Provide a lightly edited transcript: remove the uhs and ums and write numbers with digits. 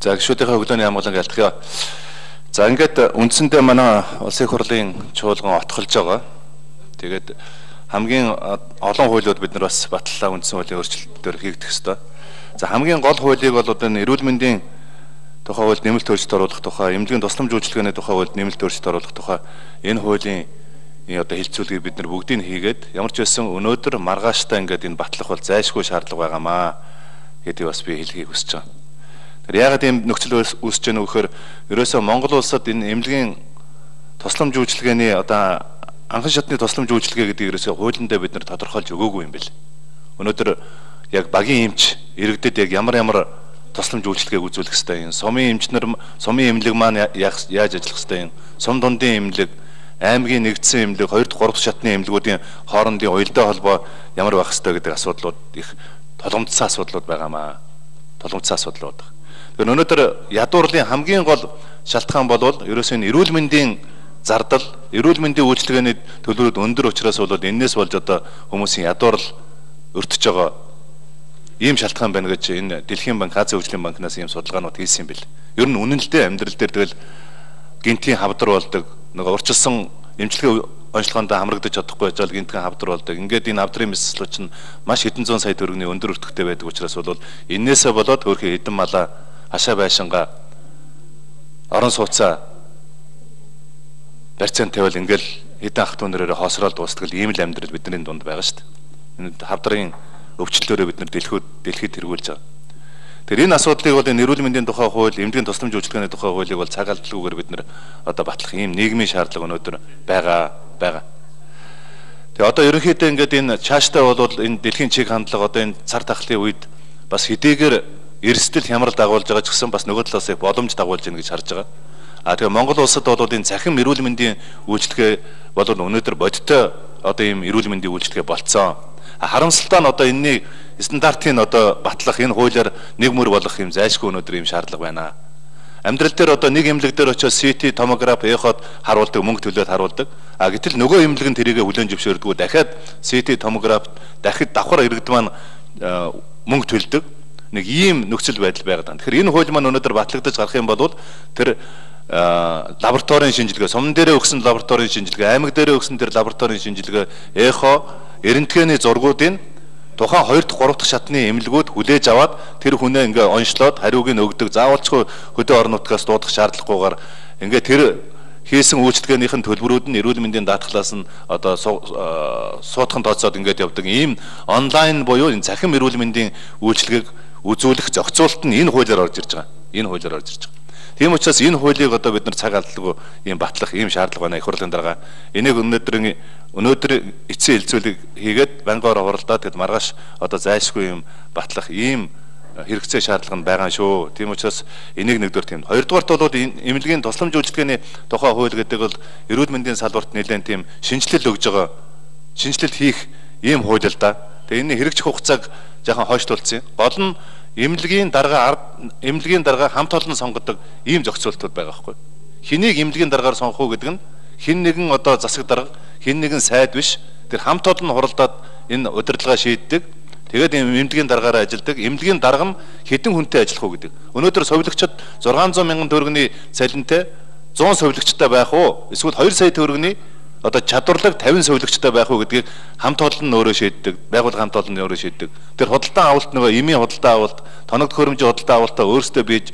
За гишүүдийнхээ өглөөний хамгаалан альтгая. За ингээд үндсэндээ манай улсын хурлын чуулган отголж байгаа. Тэгээд хамгийн олон хуулиуд бид нар бас батлалаа үндсэн хуулийн өөрчлөлтөөр хийгдэх ёстой. За хамгийн гол хуулийг бол одоо эрүүл мэндийн тухай хуульд нэмэлт өөрчлөлт оруулах тухай, эмнэлгийн тусламж үйлчилгээний тухай хуульд нэмэлт өөрчлөлт оруулах тухай энэ хуулийн одоо хэлцүүлгийг бид нар бүгдийг хийгээд ямар ч байсан өнөөдөр маргааштай ингээд энэ батлах бол зайлшгүй шаардлага байгаамаа гэдгийг бас би хэлхийг хүсэж байна. Яагаад ийм нөхцөл үүсэж байна вэ гэхээр ерөөсөө Монгол улсад энэ эмнэлгийн тусламж үйлчилгээний одоо анхан шатны тусламж үйлчилгээ гэдэг ерөөсөө хуулиндаа бид нар тодорхойлж өгөөгүй юм бэл. Өнөөдөр яг багийн эмч иргэдэд яг ямар тусламж үйлчилгээг үзүүлэх ёстой юм. Сумын эмчнэр сумын эмнэлэг маань яаж ажиллах ёстой юм. Сум дундын эмнэлэг, аймгийн нэгдсэн эмнэлэг, 2 дахь 3 дахь шатны эмнэлгүүдийн хоорондын уялдаа холбоо ямар байх ёстой гэдэг асуудлууд их толгомдсон асуудлууд байгаамаа. Толгомдсон асуудлууд. Тэгэхээр өнөөдөр ядуурлын хамгийн гол шалтгаан бол ерөөсөө эрүүл мэндийн зардал, эрүүл мэндийн үйлчилгээний төлбөрүүд өндөр учраас бол энэс болж одоо хүмүүсийн ядуурл өртөж байгаа ийм шалтгаан байна гэж энэ Дэлхийн банк, Азийн хөгжлийн банкнаас ийм судалгаанууд хийсэн юм бэл. Ер нь үнэн л дээ амьдрал дээр тэгэл гинтийн хавдар болдог, нөгөө урчилсан эмчилгээ онцлогоонд хамрагдаж чадахгүй байж гинтийн хавдар болдог. Ингээд энэ хавдрын мэслэл чинь маш хэдэн зуун сая төгрөгийн өндөр өртөгтэй байдаг учраас бол энээсээ болоод хөөрхөн хэдэн малаа хашаа байшингаа орон сууцаа барьцаан тавил ингээл хэдэн ах トゥ нэрээр хоосрол дуустдаг ийм л амьдрал бидний дунд байгаа шүү дээ. Энэ хавдрын өвчлөлөөрөө бид нар дэлхийд тэргүүлж байгаа. Тэгэхээр энэ асуудлыг бол энэ эрүүл мэндийн тухай хууль, эмнэлгийн тусламж үйлчилгээний тухай хуулийг бол цаг алдалгүйгээр бид нар одоо батлах ийм нийгмийн шаардлага өнөөдөр байгаа. Тэгээ одоо ерөнхийдөө ингээд энэ цаашдаа бол энэ дэлхийн чиг хандлага одоо энэ цар тахлын үед бас хэдийгээр эрсдэл хямрал дагуулж байгаа ч гэсэн бас нөгөө талаас их боломж дагуулж байна гэж харж байгаа. Тэгээ Монгол улсад бол энэ цахим эрүүл мэндийн үйлчилгээ бол өнөөдөр бодиттой одоо ийм эрүүл мэндийн үйлчилгээ болцсон. Харамсалтай нь одоо энэний стандартыг одоо батлах энэ хуулиар нэг мөр болгох юм зайлшгүй өнөөдөр ийм шаардлага байна. Амьдрал дээр одоо нэг эмнэлэг дээр очиж CT, томограф, эход харуулдаг, мөнгө төлөөд харуулдаг. Гэтэл нөгөө эмнэлэг нь тэрийгэ хүлээн зөвшөөрдгөө дахиад CT, томограф дахид давхар иргэд маань мөнгө төлдөг. Нэг ийм нөхцөл байдал байгаад байна. Тэгэхээр энэ хууль маань өнөөдөр батлагдаж гарах юм бол тэр лабораторийн шинжилгээ, сумн дээрээ өгсөн лабораторийн шинжилгээ, аймаг дээрээ өгсөн тэр лабораторийн шинжилгээ, эхо, эрентгээний зургуудын тухайн 2 дахь 3 дахь шатны эмнэлгүүд хүлээж аваад тэр хүнээ ингээ онцлоод хариуг нь өгдөг. Заавалчгүй хөдөө орон нутгаас дуудах шаардлагагүйгээр ингээ тэр хийсэн үйлчилгээнийхэн төлбөрүүд нь эрүүл мэндийн даатгалаас нь одоо суудхан тооцоод ингээд явдаг. Ийм онлайн буюу энэ цахим эрүүл мэндийн үйлчилгээг үзүүлэх зохицуулалт нь энэ хуулиар орж ирж байгаа. Тийм учраас энэ хуулийг одоо бид нар цаг алдалгүй ийм батлах ийм шаардлага байна их хурлын дарга. Энийг өнөөдөр эцсийн хэлцүүлэг хийгээд банкаар хуралдаад тэгэд маргааш одоо зайлшгүй ийм батлах ийм хэрэгцээ шаардлага нь байгаа шүү. Тийм учраас энийг нэгдүгээр тийм. Хоёрдугаарт бол эмнэлгийн тусламж үйлчилгээний тухай хууль гэдэг бол эрүүл мэндийн салбарт нэлээд тийм шинжилэл өгж байгаа. Шинжилэл хийх ийм хууль л да. Тэгээ энэ хэрэгжих хугацааг жоохон хойшлуулсан. Гол нь эмнэлгийн дарга хамт олон сонгодог ийм зохицуултууд байгаа байхгүй. Хэнийг эмнэлгийн даргаар сонгох уу гэдэг нь хэн нэгэн одоо засаг дарга, хэн нэгэн сайд биш. Тэр хамт олон хуралдаад энэ удирдлагаа шийддэг. Тэгээд эмнэлгийн даргаараа ажилладаг. Эмнэлгийн дарга нь хэдэн хүнтэй ажиллах уу гэдэг. Өнөөдөр совилогчид 600 мянган төгрөгийн цалинтай 100 совилогчтой байх уу? Эсвэл 2 сая төгрөгийн одоо чадварлаг 50 совилогчтой байх уу гэдгийг хамт олон нь өөрөө шийддэг. Байгууллага хамт олон нь өөрөө шийддэг. Тэр худалдан авалт нөгөө эмийн худалдан авалт, тоног төхөөрөмжийн худалдан авалтаа өөрсдөө бийж